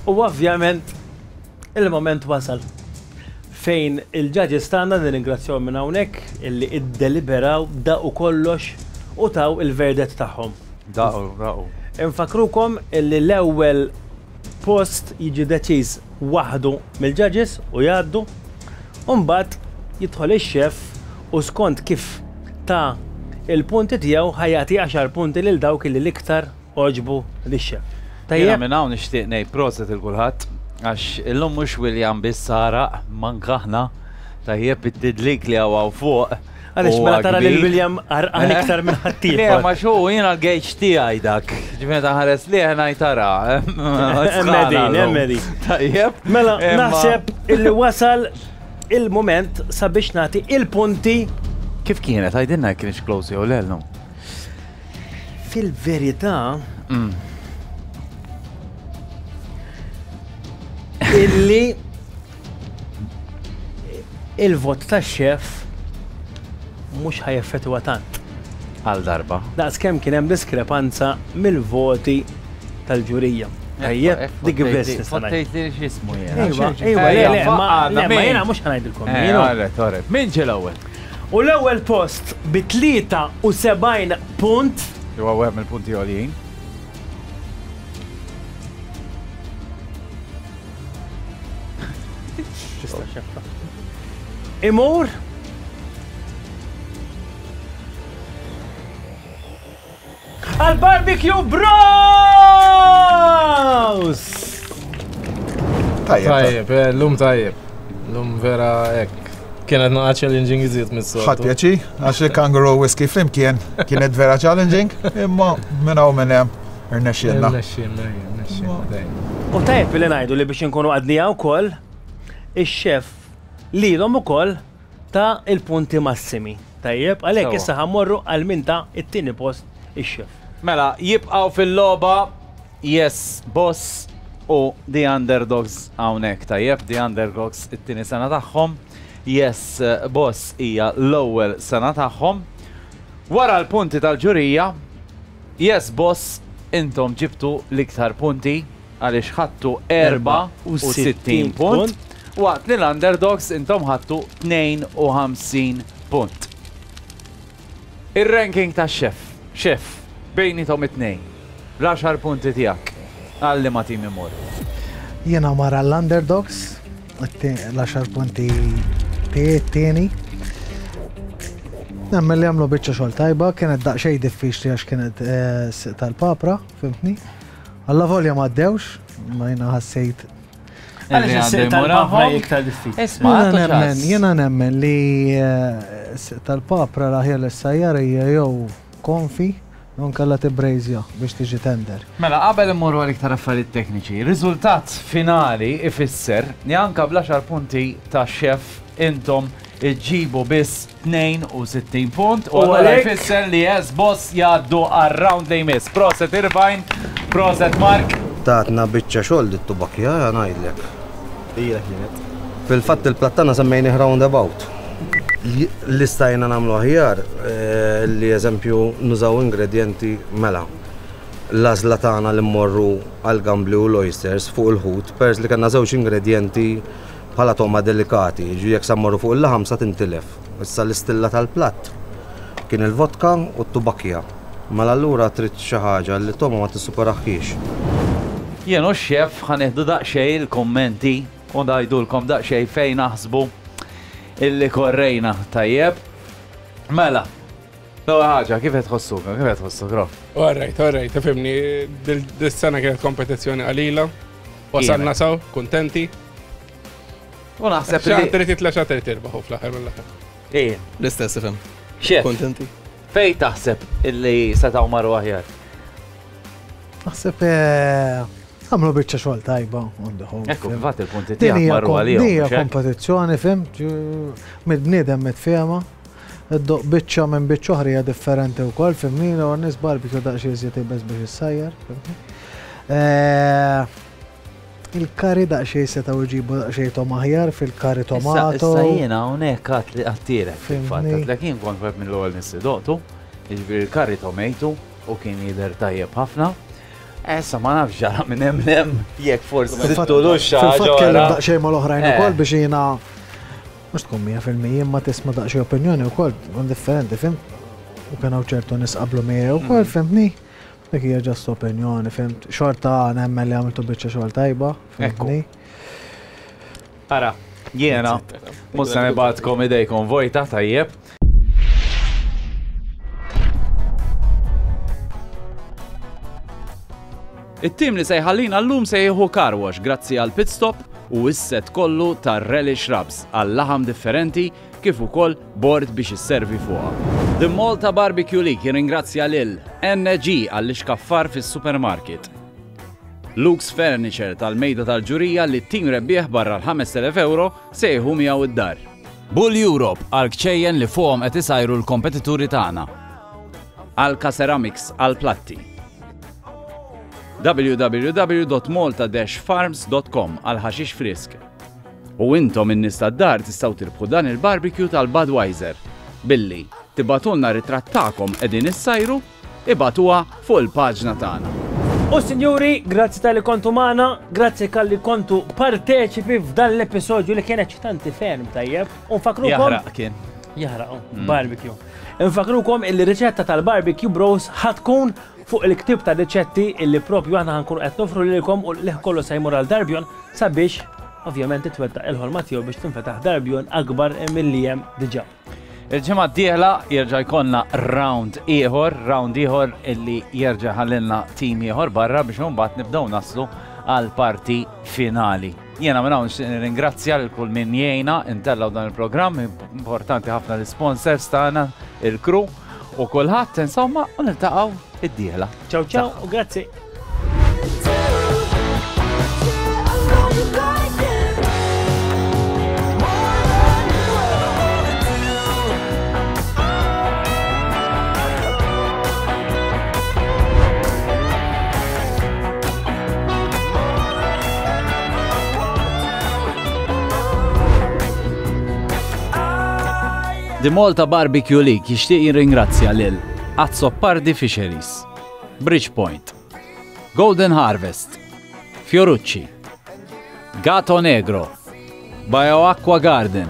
U ovvjament il-moment wasal fejn il-judges tagħna nirringrazzjaw minn hawnhekk illi iddeliberaw daqu kollox u taw il-verdett tagħhom. Daqu, daqu. Infakrukom illi l-ewwel post jiġi deċiż waħdu mill-judges u jgħaddu, u mbagħad jidħol ix-xef u skont kif ta' il-punti tiegħu ħa jagħti għaxar punti lil dawk illi l-iktar għoġbu lix-xef. Jiena Tajjeb, minn hawn nixtieq ngħid proset il kulħadd għax illum mhux William biss saraq manka aħna tajjeb it-tidlik li hawn fuq. Għaliex huwa mela tara lil kbir. William għarqan iktar minn ħaddieħor. Le, ma xu jiena l-gauge tiegħi dak. Ġifieri taħares li ngħid tara. Emmedin, emmedin. Tajjeb. Mela, Imma- naħseb illi wasal il-moment sabiex nagħti il-punti. Kif kienet? Għidilna kienx close jew le llum. Fil-verità, illi il-vot tax-xef mhux ħa jeffettwa tant. Għal darba. Daqs kemm kien hemm diskrepanza mill-voti tal-ġurija. Tajjeb, dik biss nista' ngħid. Fottejt li x'ismu jiena. Ejwa, ejwa, le, le, ma le, ma jiena mhux ħa ngħidilkom. Eh, jiena. Alright, alright. Min ġie l-ewwel? U l-ewwel post bi tlieta u sebgħin punt Huwa wieħed mill-punti għoljin. Imur għal Barbecue Bros! Tajjeb, eh, l-lum tajjeb. L-lum vera ek. Kienet naqa challenging iżjed mis-soltu. Ħadd pjaċi, għax il-kangaroo whisky flimkien kienet vera challenging, imma minn hawn minn hemm irnexxielna. Irnexxielna, irnexxielna, tajjeb. U tajjeb li ngħidu li biex inkunu għadnija wkoll, ix-xef lilhom ukoll ta' il-punti massimi. Tajjeb, għalhekk Sewwa. issa ħa mmorru għal min ta' it-tieni post ix-xef. Mela, jibqgħu fil-logħba Yes Boss u The Underdogs hawnhekk tajjeb, The Underdogs it-tieni sena tagħhom. Yes Boss hija l-ewwel sena tagħhom. Wara l-punti tal-ġurija, Yes Boss intom ġibtu l-iktar punti għaliex ħadtu erbgħa u sittin punt, waqt li l-Underdogs intom ħadtu tnejn u ħamsin punt. Ir-ranking ta' xef, xef, bejniethom it-tnejn, l-għaxar punti tiegħek, għal liema tim imur. Jiena mara l-Underdogs, l-għaxar punti tieni. Nemmen li għamlu biċċa xogħol tajba, kienet daqsxejn diffiċli għax kienet eh, s- tal-papra, fimtni? Alla volja ma għaddewx, ma jiena ħassejt. Għaliex is-siq tal-papra hija iktar diffiċli? Isma' Jiena għattu nemmen, ċans. jiena nemmen li eh, s-siq tal-papra l-aħjar l-sajjar hija jew konfi, non kalla tibrejzja biex tiġi tender. Mela, qabel immorru għal iktar affarijiet tekniċi, riżultat finali ifisser li anka bl-għaxar punti ta' xef intom iġibu biss tnejn u sittin punt u U allura għalhekk- jfisser li Yes Boss jgħaddu għar-round li jmiss. Proset Irvine, proset Mark. Tatna biċċa xogħol dit tubakja ngħidlek. Ira kienet. Fil-fatt il-plattana semmejni roundabout. Li stajna nagħmlu aħjar, eh, li eżempju nużaw ingredienti mela. L-għażla tagħna li mmorru għal gambli u l-oysters fuq il-ħut, pers li kellna żewġ ingredienti bħala toma delikati, ġu jekk sa mmorru fuq il-laħam sa tintilef. Issa l-istilla tal-platt kien il-vodka u t-tubakja. Mela allura trid xi ħaġa li toma ma tissuperaħħiex. Jien u x-xef ħa nieħdu daqsxejn il-kummenti u ngħidulkom daqsxejn fejn naħsbu illi korrejna tajjeb. Mela, l-ewwel ħaġa, kif qed tħossuk? Kif qed tħossuk, Rof? All right, all right, tifhimni, dis-sena kienet kompetizzjoni qalila. Wasalna saw, kuntenti. U naħseb li. li- Trid titla' xa trid tirbaħu fl-aħħar mill-aħħar. Ej. L-istess ifhem. Xef. Kontenti. Fej taħseb illi setgħu marru aħjar? Naħseb eh, għamlu biċċa xogħol tajba on the whole. Ekku, fim. fatt il-punti Din tiegħek hija marru kom- għalihom. Din hija mhux hekk? kompetizzjoni, fim, mid-bniedem mitfiema. Id-doq biċċa minn biċċa oħra hija differenti wkoll, fimni, u n-nies barbecue daqsxejn iżjed iebes biex issajjar, fimni. Eh, Il-curry daqsxejn setgħu jġibu daqsxejn togħma aħjar fil-curry tomato. Issa jiena hawnhekk għat li għattilek fil-fatt, Fimni. għatlek jien kont wieħed mill-ewwel nies li doqtu, jiġifieri il-curry tomato u kien jidher tajjeb ħafna. Issa ma nafx ġara minn hemm hemm jekk forsi Fil-fatt żidtulux xi ħaġa fil-fatt kellem oħra. daqsxejn mal-oħrajn Eh. ukoll biex jiena mhux tkun mija fil-mija imma tisma' daqsxejn opinjoni wkoll tkun differenti, fimt? U kien hawn ċertu nies qablu miegħi wkoll, fimtni? Dik hija just opinjoni, fimt? Xorta nemmen li għamiltu biċċa xogħol tajba, fimtni? Ara, jiena mhux se nibgħatkom idejkom vojta tajjeb. It-tim li se jħallina llum se jieħu car wash grazzi għal pit stop u s-set kollu tar Relish Rubs għal laħam differenti kif ukoll bord biex isservi fuqha. The Malta Barbecue League jirringrazzja lil N G għall-ixkaffar fis-supermarket. Luke's Furniture tal-mejda tal-ġurija li t-tim rebbieħ barra l-ħamest elef euro se jieħu miegħu id-dar. Bull Europe għal kċejjen li fuqhom qed isajru l-kompetituri tagħna. Alka Ceramics għal platti. W W W dot malta dash farms dot com għal ħaxix frisk. U intom in-nies tad-dar tistgħu tirbħu dan il-barbecue tal-Budweiser. Billi tibagħtulna ritratt tagħkom qegħdin issajru, ibagħtuha fuq il-paġna tagħna. U sinjuri, grazzi talli kontu magħna, grazzi talli kontu parteċipi f'dan l-episodju li kien eċitanti ferm, tajjeb. U nfakrukom. Jaħraq kien. Jaħraq, oh, Mm. barbecue. Nfakrukom il-riċetta tal-barbecue bros ħa tkun fuq il-ktib ta' riċetti illi propju aħna ħa nkunu qed nofru lilkom u li kollu se jmur għal Darbjon sabiex ovvjament titwettaq il-ħolma tiegħu biex tinfetaħ Darbjon akbar milli hemm diġà. Il-ġimgħa d-dieħla jerġa' jkollna round ieħor, round ieħor illi jerġa' ħallilna tim ieħor barra biex imbagħad nibdew naslu għal parti finali. Jiena minn hawn nixtieq nirringrazzja lil kull min jgħinna intellgħu dan il-programm, importanti ħafna l-sponsors tagħna, il-crew u kulħadd insomma u niltaqgħu id-dieħla. Ciao ciao u grazzi. The Malta Barbecue League jixtieq jirringrazzja lil Azzopardi Fisheries, Bridgepoint, Golden Harvest, Fiorucci, Gato Negro, BioAqua Garden,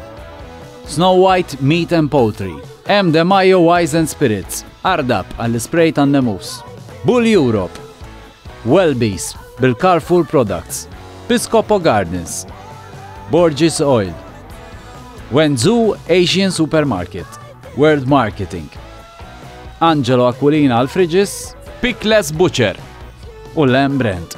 Snow White Meat and Poultry, M. De Mayo Wines and Spirits, Ardap għall-spray tan-nemus, Bull Europe, Wellbees bil-Carrefour Products, Piscopo Gardens, Borges Oil, Wenzhou Asian Supermarket, World Marketing, Angelo Aquilina għal Fridges, Pickless Butcher u Lem Brand.